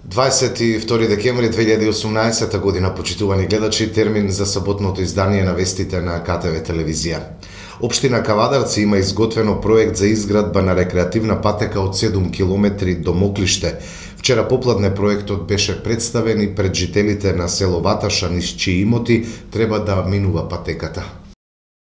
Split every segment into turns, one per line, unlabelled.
22 декември 2018 година, почитувани гледачи, термин за саботното издание на вестите на КТВ телевизија. Општина Кавадарци има изготвено проект за изградба на рекреативна патека од 7 километри до Моклиште. Вчера попладне проектот беше представен и пред жителите на село Ваташа, низ чии имоти треба да минува патеката.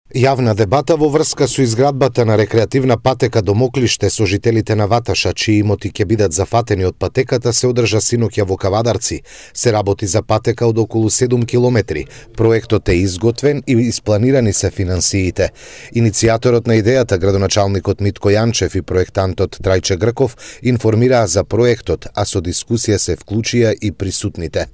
Јавна дебата во врска со изградбата на рекреативна патека до Моклиште со жителите на Ваташа, чии имоти ќе бидат зафатени од патеката, се одржа синоќа во Кавадарци. Се работи за патека од околу 7 километри. Проектот е изготвен и испланирани се финансиите. Иницијаторот на идејата, градоначалникот Митко Јанчев и проектантот Трајче Грков, информираа за проектот, а со дискусија се вклучија и присутните.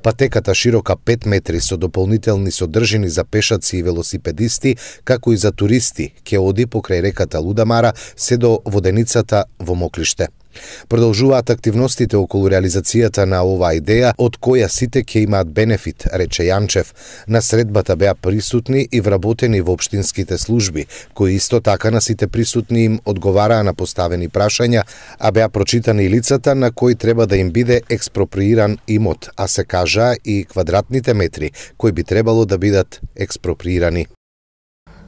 Патеката широка 5 метри со дополнителни содржини за пешаци и велосипедисти, како и за туристи, ќе оди покрај реката Лудамара се до воденицата во Моклиште. Продолжуваат активностите околу реализацијата на оваа идеја, од која сите ќе имаат бенефит, рече Јанчев. На средбата беа присутни и вработени во општинските служби, кои исто така на сите присутни им одговараа на поставени прашања, а беа прочитани и лицата на кои треба да им биде експроприиран имот, а се кажаа и квадратните метри кои би требало да бидат експроприирани.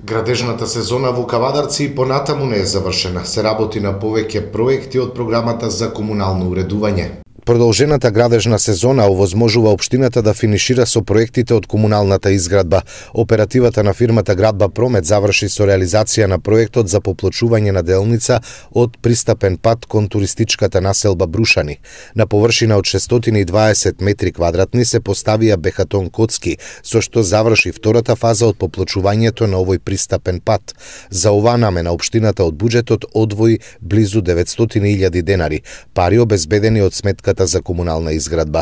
Градежната сезона во Кавадарци и понатаму не е завршена. Се работи на повеќе проекти од програмата за комунално уредување. Продолжената градежна сезона овозможува општината да финишира со проектите од комуналната изградба. Оперативата на фирмата Градба Промет заврши со реализација на проектот за поплочување на делница од пристапен пат кон туристичката населба Брушани. На површина од 620 метри квадратни се поставија бехатон коцки, со што заврши втората фаза од поплочувањето на овој пристапен пат. За оваа намена општината од буџетот одвои близу 900.000 денари, пари обезбедени од сметката за комунална изградба.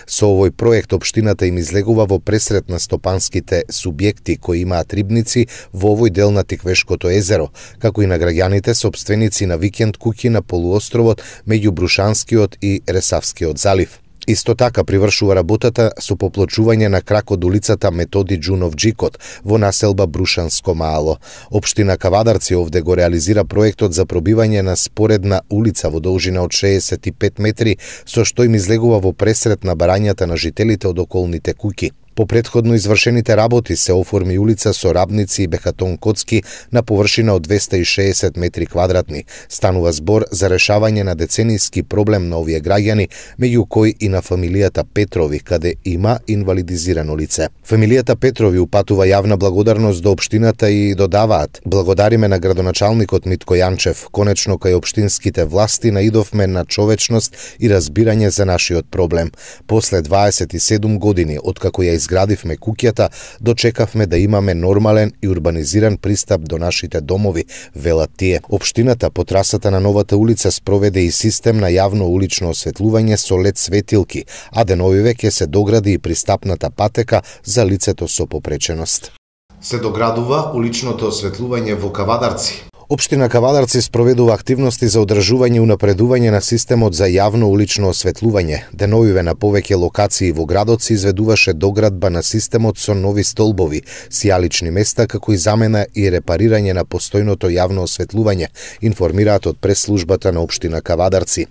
Со овој проект општината им излегува во пресрет на стопанските субјекти кои имаат рибници во овој дел на Тиквешкото езеро, како и на граѓаните собственици на викенд куќи на полуостровот меѓу Брушанскиот и Ресавскиот залив. Исто така привршува работата со поплочување на крак од улицата Методи Џунов Џикот во населба Брушанско Маало. Општина Кавадарци овде го реализира проектот за пробивање на споредна улица во должина од 65 метри, со што им излегува во пресрет на барањата на жителите од околните куќи. По претходно извршените работи се оформи улица со рабници и бехатон коцки на површина од 260 метри квадратни. Станува збор за решавање на деценијски проблем на овие граѓани, меѓу кои и на фамилијата Петрови, каде има инвалидизирано лице. Фамилијата Петрови упатува јавна благодарност до општината и додаваат: благодариме на градоначалникот Митко Јанчев, конечно кај општинските власти наидовме на човечност и разбирање за нашиот проблем. После 27 години откако ја изградивме куќата, дочекавме да имаме нормален и урбанизиран пристап до нашите домови, велат тие. Општината по трасата на новата улица спроведе и систем на јавно улично осветлување со лед светилки, а деновиве ќе се догради и пристапната патека за лицето со попреченост. Се доградува уличното осветлување во Кавадарци. Општина Кавадарци спроведува активности за одржување и унапредување на системот за јавно улично осветлување. Деновиве на повеќе локации во градот се изведуваше доградба на системот со нови столбови, сијалични места, како и замена и репарирање на постојното јавно осветлување, информираат од прес-службата на општина Кавадарци.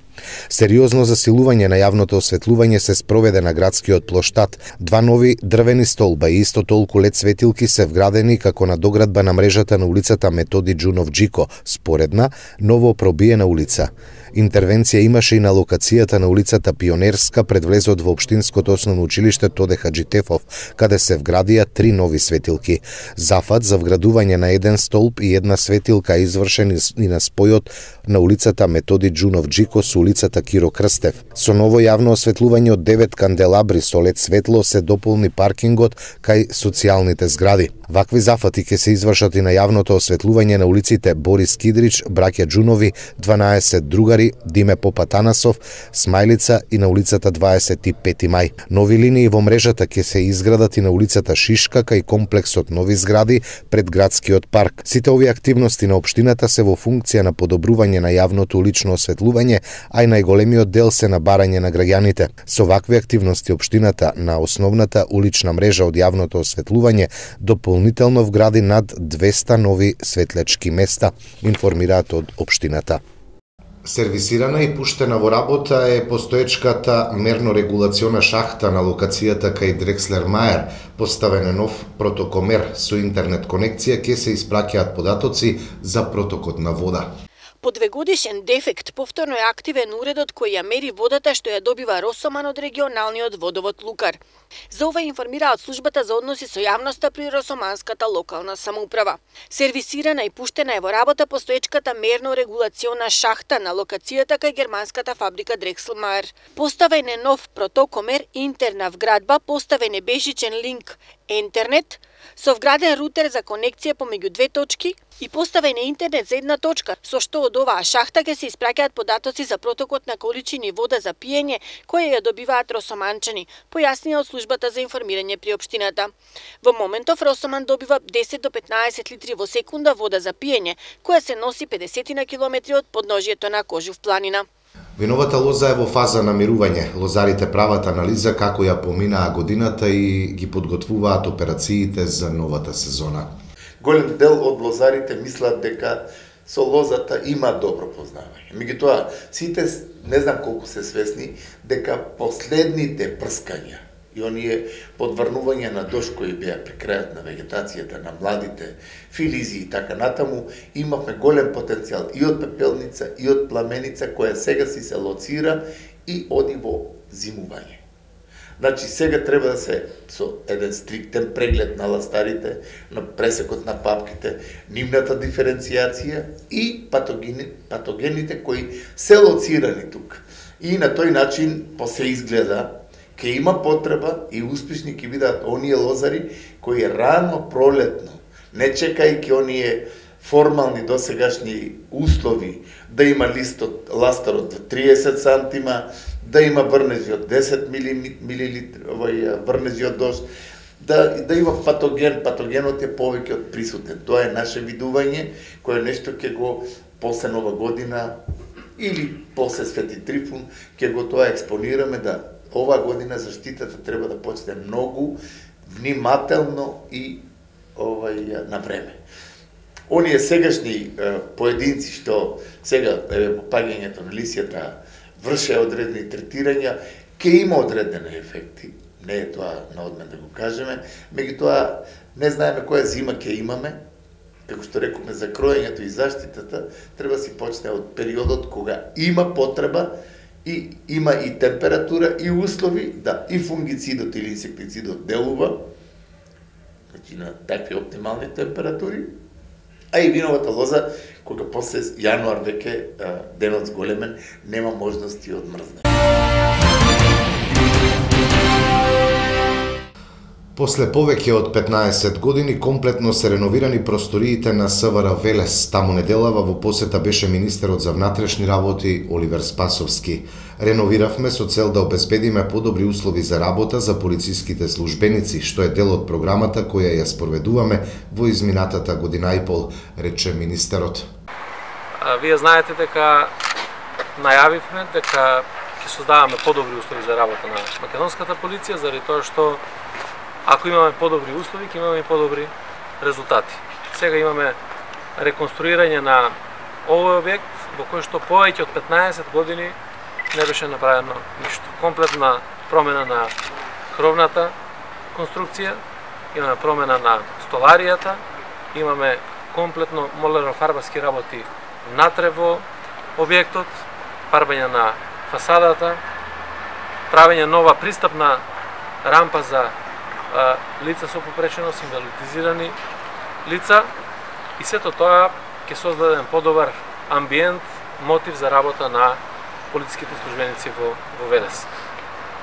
Сериозно засилување на јавното осветлување се спроведе на градскиот плоштад. 2 нови дрвени столба и исто толку лед светилки се вградени како на доградба на мрежата на улицата Методи Џунов Џико, споредна, ново пробиена улица. Интервенција имаше и на локацијата на улицата Пионерска пред влезот во општинското основно училиште Тоде Хаџитефов, каде се вградија 3 нови светилки. Зафат за вградување на 1 столб и 1 светилка извршен и на спојот на улицата Методи Џунов Џико со улицата Киро Крстев. Со ново јавно осветлување од 9 канделабри со лед светло се дополни паркингот кај социјалните згради. Вакви зафати ќе се извршат и на јавното осветлување на улиците Борис Кидрич, браќа Џунови, 12 другари, Диме Попатанасов, Смајлица и на улицата 25 мај. Нови линии во мрежата ќе се изградат и на улицата Шишка кај комплексот нови згради пред градскиот парк. Сите овие активности на општината се во функција на подобрување на јавното улично осветлување, а и најголемиот дел се на барање на граѓаните. Со вакви активности општината на основната улична мрежа од јавното осветлување дополнително вгради над 200 нови светлечки места, информираат од општината. Сервисирана и пуштена во работа е постоечката мерно-регулациона шахта на локацијата кај Дрекслер Мајер. Поставен е нов протокомер со интернет конекција, ке се испраќаат податоци за протокот на вода.
По 2-годишен дефект повторно е активен уредот кој ја мери водата што ја добива Росоман од регионалниот водовод Лукар. За ова информираат службата за односи со јавноста при Росоманската локална самоуправа. Сервисирана и пуштена е во работа постоечката мерно-регулациона шахта на локацијата кај германската фабрика Дрекслмајер. Поставен е нов протокомер интерна вградба, поставен е бежичен линк интернет, со вграден рутер за конекција помеѓу две точки и поставен е интернет за една точка, со што од оваа шахта ќе се испраќаат податоци за протокот на количини вода за пиење која ја добиваат росоманчани, појаснија од службата за информирање при општината. Во моментов Росоман добива 10 до 15 литри во секунда вода за пиење, која се носи 50 на километри од подножјето на Кожув планина.
Виновата лоза е во фаза на мирување. Лозарите прават анализа како ја поминаа годината и ги подготвуваат операциите за новата сезона.
Голем дел од лозарите мислат дека со лозата има добро познавање. Меѓутоа, сите не знам колку се свесни дека последните прскања и оние подврнувања на дожд кои беа при крајот на вегетацијата на младите филизи и така натаму, имавме голем потенцијал и од пепелница и од пламеница која сега си се лоцира и оди во зимување. Значи сега треба да се со еден стриктен преглед на ластарите, на пресекот на папките, нивната диференцијација и патогените кои се лоцирани тук. И на тој начин се изгледа ке има потреба и успешни ќе бидат оние лозари кои рано пролетно, не чекајќи оние формални досегашни услови, да има ластар од 30 сантима, да има врнежи од 10 милилитри, врнежи од дожд, да има патогенот е повеќе од присутен. Тоа е наше видување, кое нешто ќе го после Нова година или после Свети Трифун, ќе го тоа експонираме да оваа година заштитата треба да почне многу внимателно и на време. Оние сегашни поединци што сега попаѓањето на лисијата врше одредени третирања, ќе има одредени ефекти. Не е тоа на одмен да го кажеме, меѓутоа не знаеме која зима ќе имаме. Како што рековме за кроењето и заштитата, треба си почне од периодот кога има потреба и има и температура и услови да и фунгицидот или инсектицидот делува, значи на такви оптимални температури, а и виновата лоза кога после јануар веќе денот зголемен нема можности од мрзне.
После повеќе од 15 години комплетно се реновирани просториите на СВР Велес. Таму неделава во посета беше министерот за внатрешни работи Оливер Спасовски. Реновиравме со цел да обезбедиме подобри услови за работа за полициските службеници, што е дел од програмата која ја спроведуваме во изминатата година и пол, рече министерот.
Вие знаете дека најавивме дека ќе создаваме подобри услови за работа на македонската полиција, заради тоа што ако имаме подобри услови, ќе имаме и подобри резултати. Сега имаме реконструирање на овој објект во кој што повеќе од 15 години не беше направено ништо. Комплетна промена на кровната конструкција, имаме промена на столаријата, имаме комплетно молерофарбарски работи внатре во објектот, фарбање на фасадата, правење нова пристапна рампа за лица со попреченост, инвалидизирани лица и сето тоа ќе создаде еден подобар амбиент, мотив за работа на полициските службеници во Велес.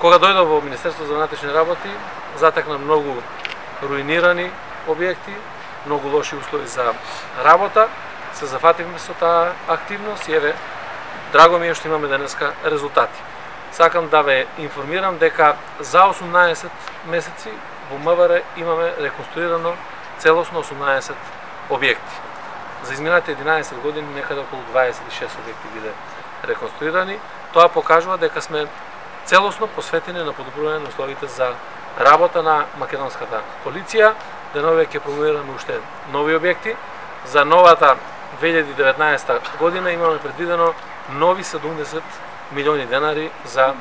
Кога дојдов во Министерството за внатрешни работи, затекна многу руинирани објекти, многу лоши услови за работа, се зафативме со таа активност и еве, драго ми е што имаме денеска резултати. Сакам да ве информирам дека за 18 месеци во МВР имаме реконструирано целосно 18 објекти. За изминатите 11 години некаде околу 26 објекти биде реконструирани. Тоа покажува дека сме целосно посветени на подобрување на условите за работа на македонската полиција. Денове ќе промовираме уште нови објекти. За новата 2019 година имаме предвидено нови 70 милиони денари за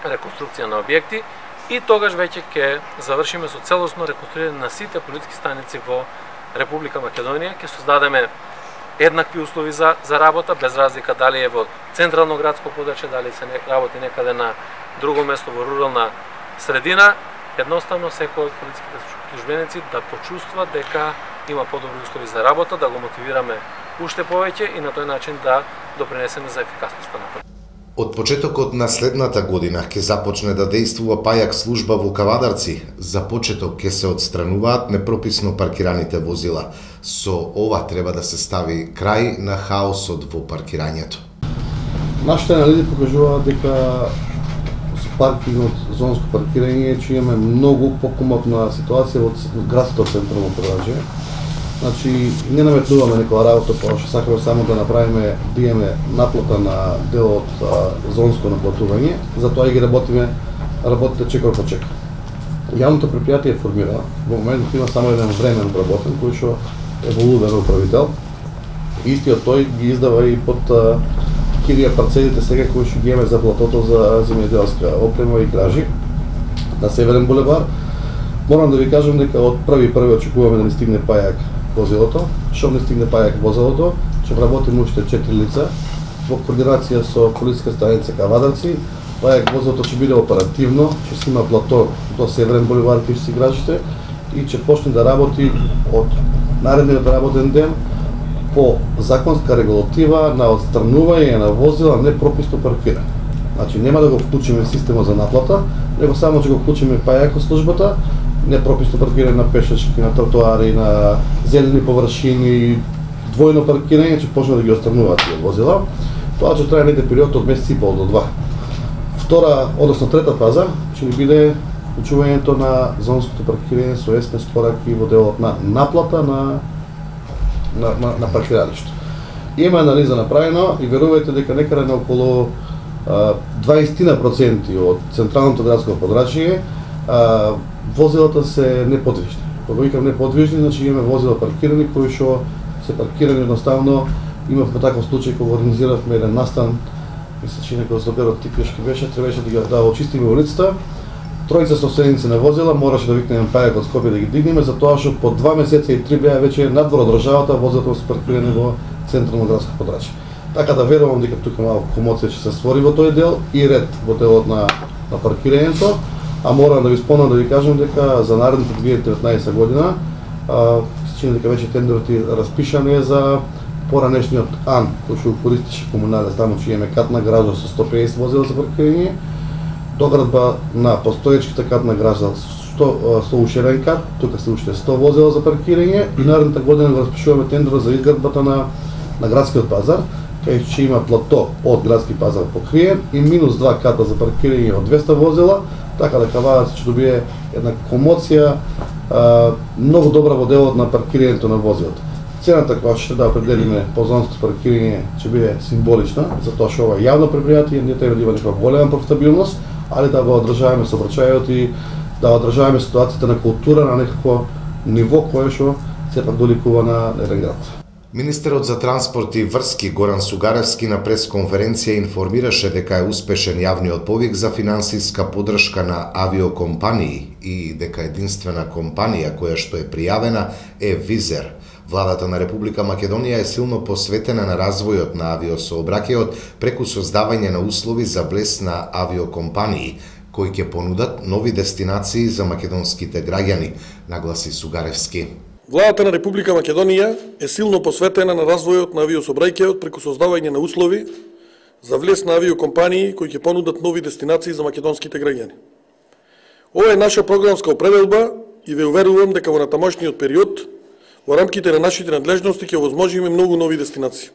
реконструкција на објекти и тогаш веќе ќе завршиме со целосно реконструирање на сите полициски станици во Република Македонија, ќе создадеме еднакви услови за работа, без разлика дали е во централно градско подрачје, дали се работи некаде на друго место во рурална средина. Едноставно секој од полициските службеници да почувствува дека има подобри услови за работа, да го мотивираме уште повеќе и на тој начин да допринесеме за ефикасноста на полицијата.
Од почетокот на следната година ќе започне да дејствува пајак служба во Кавадарци. За почеток ќе се отстрануваат непрописно паркираните возила. Со ова треба да се стави крај на хаосот во паркирањето.
Нашите анализи покажуваат дека со паркингот, зонско паркирање, че имаме многу покомотна ситуација во градското централно подрачје. Значи, не наметнуваме некоја работа, па што сакаме само да направиме, да имаме наплата на дел од зонско наплатување, затоа и ги работите чекор по чекор. Јавното предпријатие формира, во моментот има само еден времен обработен, кој што е волуден управител. Истиот тој ги издава и под кирија парцелите сега кои што ги имаме за платото за земјоделска опрема и гражи на Северен булевар. Морам да ви кажам дека од први очекуваме да ни стигне пајак возилото. Што не стигне пајак возилото, ќе вработиме уште 4 лица во координација со полициска станица Кавадарци. Пајак возилото ќе биде оперативно, ќе си има плато до Северен булевар кај си гражите и ќе почне да работи од наредниот работен ден по законска регулатива на отстранување на возила непрописно паркирани. Значи нема да го вклучиме системот за наплата, него само ќе го вклучиме пајак службата, непрописно паркирање на пешачки, на тротоари, на зелени површини, двојно паркирање, ќе почне да ги отстрануваат тие возила. Тоа ќе трае некој период од месец и пол до 2. Втора, односно трета фаза, ќе ни биде вклучувањето на зонското паркирање со СМС пораки во делот на наплата на паркиралишто. Има анализа направено и верувајте дека некаде на околу 20% од централното градско подрачје возилата се неподвижни. Кога викам неподвижни, значи имаме возила паркирани кои што се паркирани едноставно. Имавме таков случај кога организиравме еден настан, мисля че некој злоперот типешки беше, требаше да очистиме улицата. Тројца собственици на возила мораше да викнеме пајак од Скопје да ги дигнеме, затоа што по 2 месеца и 3 беа веќе надвор од државата, возилата се паркирани во централно градско подрачје. Така да верувам дека тука малку комоција ќе се створи во тој дел и ред во делот на паркирањето, а морам да ви спомнам да ви кажам дека за наредната 2019 година се чини дека веќе тендерот е распишан за поранешниот АН, кој што користише комунален, таму че имаме катна гража со 150 возила за паркирање, доградба на постоечката катна гража со уширен кат, тука се уште 100 возила за паркирање и наредната година го распишуваме тендерот за изградбата на градскиот пазар, кај ќе има плато од градски пазар покриен и минус 2 ката за паркирање од 200 возила, така да Кавадарци ќе добие една комоција многу добра во делот на паркирањето на возилата. Цената која ќе да определиме по зонското паркирање ќе биде символична, затоа што ова јавно предпријатие не треба да има некоја голема профитабилност, али да го одржаваме сообраќајот и да одржаваме ситуацијата на култура на некакво ниво кое што сепак доликува на еден град.
Министерот за транспорт и врски Горан Сугаревски на пресконференција информираше дека е успешен јавниот повик за финансиска поддршка на авиокомпании и дека единствена компанија која што е пријавена е Визер. Владата на Република Македонија е силно посветена на развојот на авиосообраќајот преку создавање на услови за влез на авиокомпании кои ќе понудат нови дестинации за македонските граѓани, нагласи Сугаревски.
Владата на Република Македонија е силно посветена на развојот на авиосообраќајот преку создавање на услови за влез на авиокомпании кои ќе понудат нови дестинации за македонските граѓани. Ова е наша програмска определба и ве уверувам дека во натамошниот период во рамките на нашите надлежности ќе овозможиме многу нови дестинации.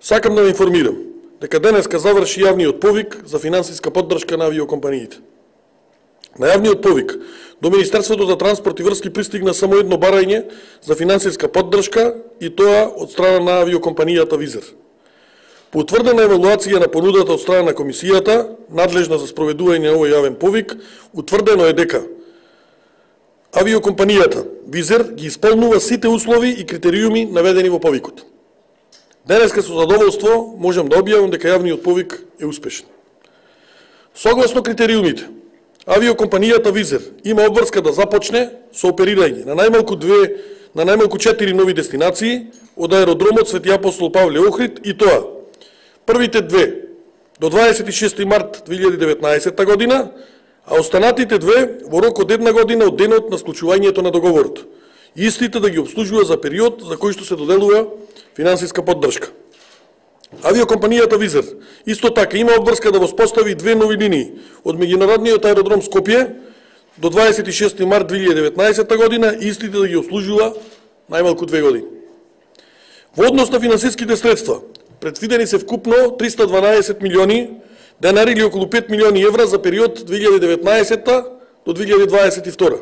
Сакам да ве информирам дека денеска заврши јавниот повик за финансиска поддршка на авиокомпаниите. На јавниот повик до Министерството за транспорт и врски пристигна само едно барање за финансиска поддршка и тоа од страна на авиокомпанијата Визер. По утврдена евалуација на понудата од страна на комисијата, надлежна за спроведување на овој јавен повик, утврдено е дека авиокомпанијата Визер ги исполнува сите услови и критериуми наведени во повикот. Денеска со задоволство можам да објавам дека јавниот повик е успешен. Согласно критериумите, авиокомпанијата Визер има обврска да започне со оперирање на најмалку 4 нови дестинации од аеродромот Свети Апостол Павле Охрид, и тоа првите две до 26 март 2019 година, а останатите две во рок од 1 година од денот на склучувањето на договорот. Истите да ги обслужува за период за кој што се доделува финансиска поддршка. Авиокомпанијата Визер исто така има обврска да воспостави 2 нови линии од меѓународниот аеродром Скопје до 26 март 2019 година, истите да ги обслужува најмалку 2 години. Во однос на финансиските средства, предвидени се вкупно 312 милиони денари или околу 5 милиони евра за период 2019 до 2022.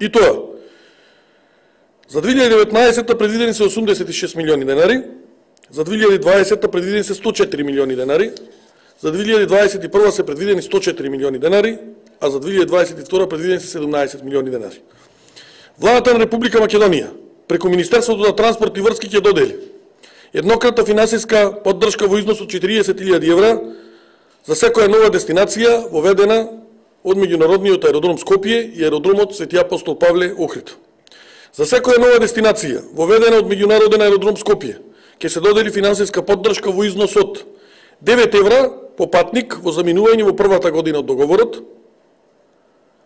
И тоа, за 2019 предвидени се 86 милиони денари, за 2020 предвидени се 104 милиони денари, за 2021 се предвидени 104 милиони денари, а за 2022 предвидени се 17 милиони денари. Владата на Република Македонија преку Министерството на транспорт и врски ќе додели еднократна финансиска поддршка во износ од 40.000 евра за секоја нова дестинација воведена од меѓународниот аеродром Скопје и аеродромот Свети Апостол Павле Охрид. За секоја нова дестинација воведена од меѓународен аеродром Скопје ќе се додели финансиска поддршка во износ од 9 евра по патник во заминување во првата година од договорот,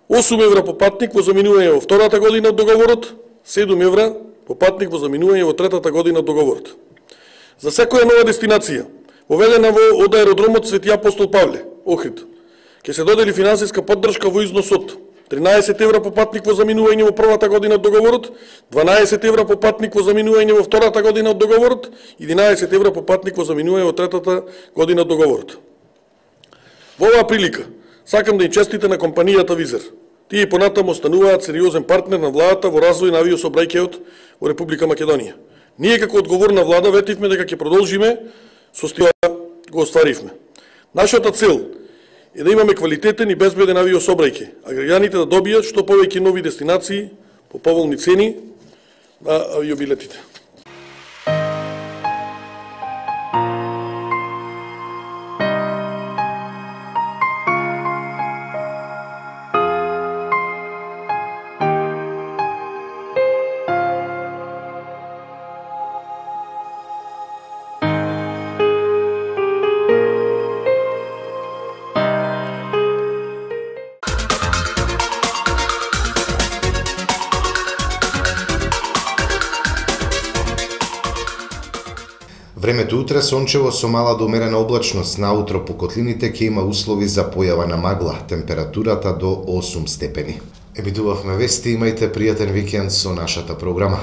8 евра по патник во заминување во втората година од договорот, 7 евра по патник во заминување во третата година од договорот. За секоја нова дестинација воведена од аеродромот Свети Апостол Павле Охрид ќе се додели финансиска поддршка во износ од 13 евра по патник во заминување во првата година од договорот, 12 евра по патник во заминување во втората година од договорот, 11 евра по патник во заминување во третата година од договорот. Во оваа прилика сакам да им честите на компанијата Визер. Тие и понатаму остануваат сериозен партнер на владата во развој на авиосообраќајот во Република Македонија. Ние како одговорна влада ветивме дека ќе продолжиме со стила го остваривме. Нашата цел е да имаме квалитетен и безбеден авиосообраќај, а граѓаните да добијат што повеќе нови дестинации по поволни цени на авиобилетите.
Времето утре сончево со мала до умерена облачност, наутро по котлините ќе има услови за појава на магла, температурата до 8 степени. Емитувавме вести, имајте пријатен викенд со нашата програма.